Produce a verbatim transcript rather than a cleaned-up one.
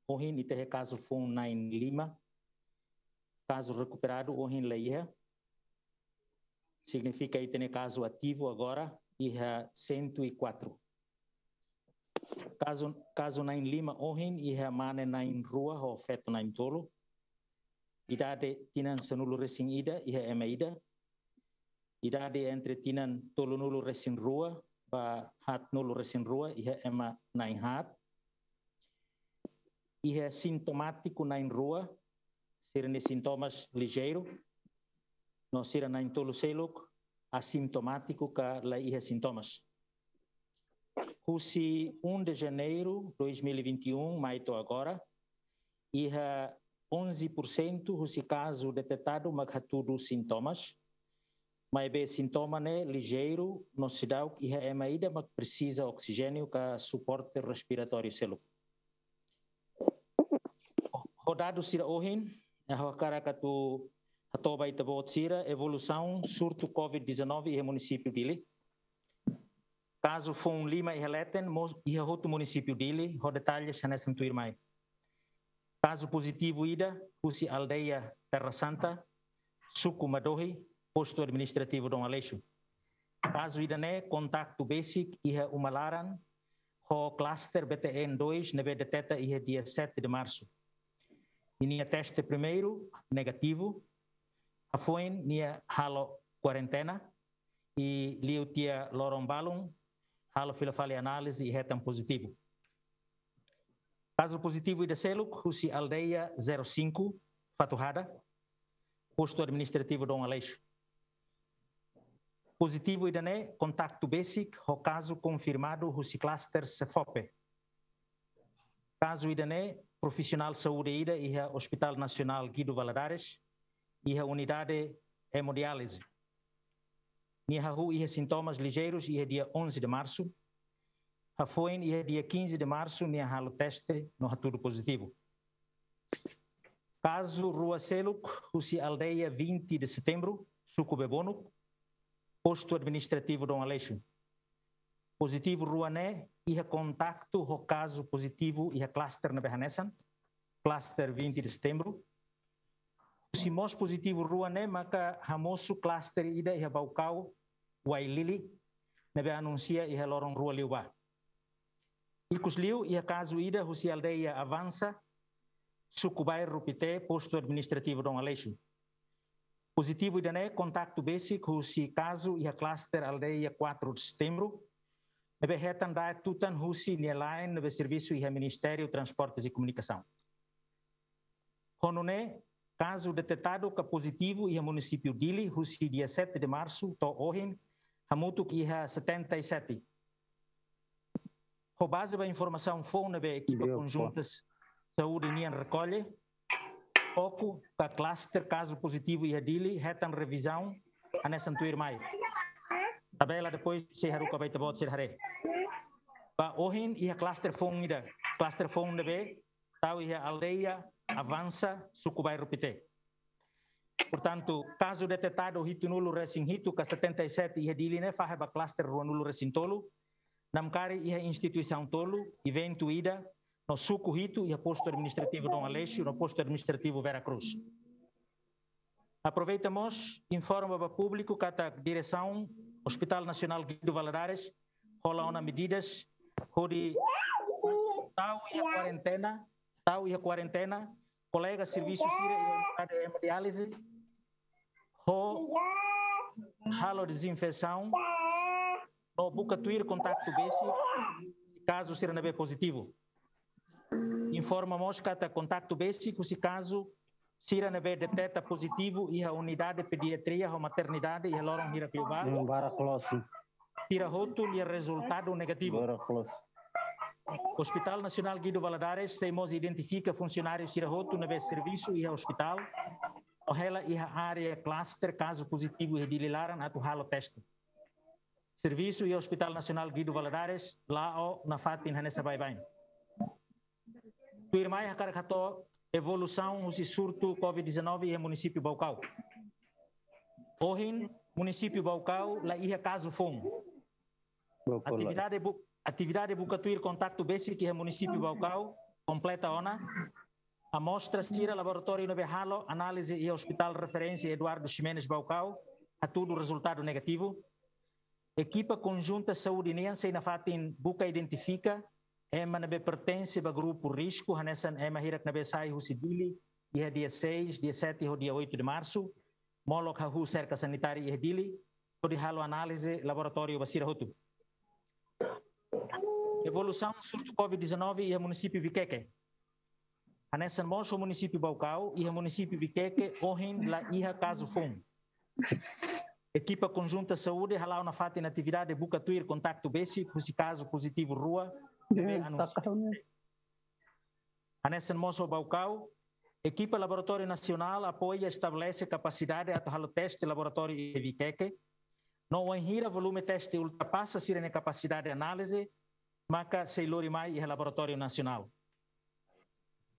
Ohin ita iha kazu foun na'in lima. Kazu rekuperadu ohin la iha. Signifika ita-nia kazu ativu agora iha cento e quatro. Kazu, kazu na'in lima ohin iha mane na'in rua ho feto na'in tolu. Idade tinan sanulu-resin-ida iha ema ida. Idade entre tinan tolunulu-resin-rua ba haatnulu-resin-rua iha ema na'in haat. Iha sintomátiku na'in rua, sira-nia sintomas lijeiru, no sira na'in tolu seluk asintomátiku ka la iha sintomas. Husi um de janeiro dois mil e vinte e um mai to'o agora, iha onze por cento husi kazu detetadu mak hatudu sintomas, maibé sintoma ne'e lijeiru no seidauk iha ema ida mak presiza oksijéniu ka suporte respiratóriu seluk. Ho dadus sira ohin, ha'u hakarak atu hato'o ba ita-boot sira evolusaun surtu covid dezanove iha munisípiu Dili. Kazu foun lima iha leten mós iha hotu munisípiu Dili, ho detalles hanesan tuirmai. Kazu pozitivu ida husi aldeia Terra Santa, suku Madohi, postu administrativu Dom Aleixo. Kazu ida-ne'e kontaktu besik iha uma laran ho klaster B T N dois ne'ebé deteta iha dia sete de março. Ninia teste primeiru negativu, hafoin nia halo kuarentena, i liu tiha loron balun halo fila fali análize i hetan pozitivu. Kazu pozitivu ida seluk husi aldeia zero cinco, Fatuhada, postu administrativu Dom Aleixo. Pozitivu ida-ne'e kontaktu besik ho kazu konfirmadu husi klaster Sefope. Kazu ida-ne'e profisionál saúde ida iha Hospital Nasionál Guido Valadares, iha unidade hemodiálise. Nia hahú iha sintomas lijeirus iha dia onze de março. Hafoin iha dia quinze de março nia halo teste no hatudu pozitivu. Kazu rua seluk husi aldeia vinte de setembro, suku Bebonuk, postu administrativu Dom Aleixo. Pozitivu rua ne'e iha kontaktu ho kazu pozitivu iha klaster ne'ebé hanesan, klaster vinte de setembro. Husi mós pozitivu rua ne'e maka hamosu klaster ida iha Baucau, Uailili, ne'ebé anunsia iha loron rua liubá. Ikusliu iha kazu ida husi aldeia Avansa, suku Bairru Pité, postu administrativu Dom Aleixo. Pozitivu ida-ne'e kontaktu besik husi kazu iha klaster aldeia quatro de setembro, ne'ebé hetan daet tutan husi nia laen ne'ebé servisu iha Ministériu Transportes e Komunikasaun. Ho nune'e, kazu detetadu ka pozitivu iha munisípiu Dili husi dia sete de março to'o ohin hamutuk iha setenta e sete. Ho baze ba informasaun foun ne'ebé ekipa konjunta saúde nian rekolle, foku ka klaster kazu pozitivu iha Dili hetan revizaun hanesan tuirmai. Tabela depois sei haruka ba ita-boot sira haree. Ba ohin iha klaster foun ida, klaster foun ne'ebé tau iha aldeia Avansa, suku Bairru Pité. Portantu, kazu detetadu hitunulu-resin-hitu ka setenta e sete iha Dili ne'e fahe ba klaster ruanulu-resin-tolu, namkari iha instituisaun tolu, eventu ida, no suku hitu iha postu administrativu Dom Aleixo, no postu administrativu Vera Cruz. Aproveita mós informa ba públiku katak diresaun Hospital Nasionál Guido Valadares hola ona medidas hodi tau iha kuarentena, tau iha kuarentena kolega servisu sira iha unidade hemodiálise, ho halo dezinfesaun, no buka tuir kontaktu besik kazu sira ne'ebé pozitivu. Informa mós katak kontaktu besik husi kazu sira ne'ebé deteta pozitivu iha unidade pediatria ho maternidade iha loron hirak liubá. Hmm, barak loos. Sira hotu nia rezultadu negativu. Barak loos. Hospital Nasionál Guido Valadares sei mós identifika funsionáriu sira hotu ne'ebé servisu iha hospital, no hela iha área klaster kazu pozitivu iha Dili laran atu halo teste. Servisu iha Hospital Nasionál Guido Valadares la'o nafatin hanesan baibain. Tuirmai hakarak hato'o evolusaun husi surtu covid dezanove iha munisípiu Baucau. Ohin, munisípiu Baucau la iha kazu foun. Baucau la. Atividade bu-, atividade buka tuir kontaktu besik iha munisípiu Baucau Kompleta ona, amostra sira laboratóriu ne'ebé halo análize iha Hospital Referénsia Eduardo Ximenes Baucau hatudu rezultadu negativu. Ekipa konjunta saúde nian sei nafatin buka identifika ema ne'ebé pertense ba grupu risku, hanesan ema hirak ne'ebé sai husi Dili iha dia seis, dia sete ho dia oito de março, molok hahú serka sanitária iha Dili, hodi halo análize laboratóriu ba sira hotu. Evolusaun surtu COVID dezanove iha munisípiu Viqueque. Hanesan mós ho munisípiu Baucau, iha munisípiu Viqueque ohin la iha kazu foun. Ekipa konjunta saúde hala'o nafatin atividade buka tuir kontaktu besik husi kazu pozitivu rua ne'ebé anuncia. Hanesan mós ho Baucau, ekipa Laboratóriu Nasionál apoia estabelese kapasidade atu halo teste laboratóriu iha Viqueque. No wainhira volume teste ultrapasa sira-nia kapasidade análize, maka sei lori mai iha Laboratóriu Nasionál.